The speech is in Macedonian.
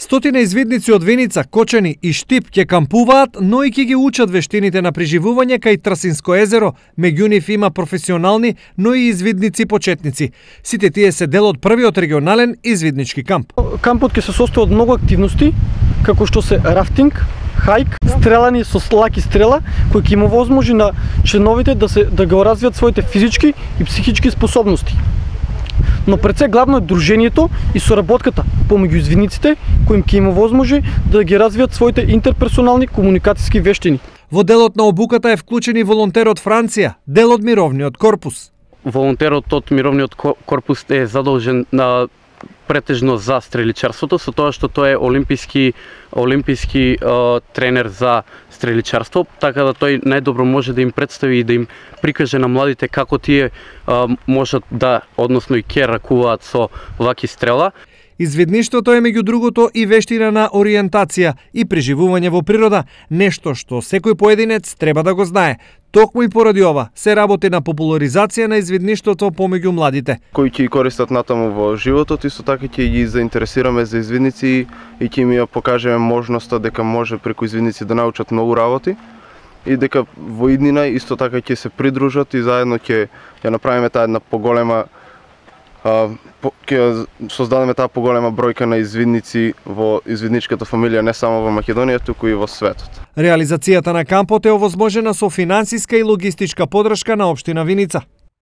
Стотина извидници од Виница, Кочани и Штип ќе кампуваат, но и ќе ги учат вештините на преживување кај Трасинско езеро. Меѓу нив има професионални, но и извидници почетници. Сите тие се дел од првиот регионален извиднички камп. Кампот ќе се состои од многу активности, како што се рафтинг, хајк, стрелани со лаки стрела, кој ќе им овозможи на членовите да го развијат своите физички и психички способности. Но пред се главно е дружењето и соработката помеѓу извидниците, кој им ќе им овозможи да ги развијат своите интерперсонални комуникацијски вештини. Во делот на обуката е вклучен и волонтер од Франција, дел од мировниот корпус. Волонтерот од мировниот корпус е задолжен на претежно за стреличарството, со тоа што тој е олимписки тренер за стреличарство, така да тој најдобро може да им представи и да им прикаже на младите како тие можат да, односно и ќе ракуваат со лаки стрела. Извидништвото е меѓу другото и вештина на ориентација и преживување во природа, нешто што секој поединец треба да го знае. Токму и поради ова се работи на популаризација на извидништвото помеѓу младите. Кои ќе користат натаму во животот, исто така ќе ги заинтересираме за извидници и ќе им ја покажеме можноста дека може преку извидници да научат многу работи и дека во иднина исто така ќе се придружат и заедно ќе ја направиме таа една поголема ќе создадеме таа поголема бројка на извидници во извидничката фамилија не само во Македонија, туку и во светот. Реализацијата на кампот е овозможена со финансиска и логистичка подршка на општина Виница.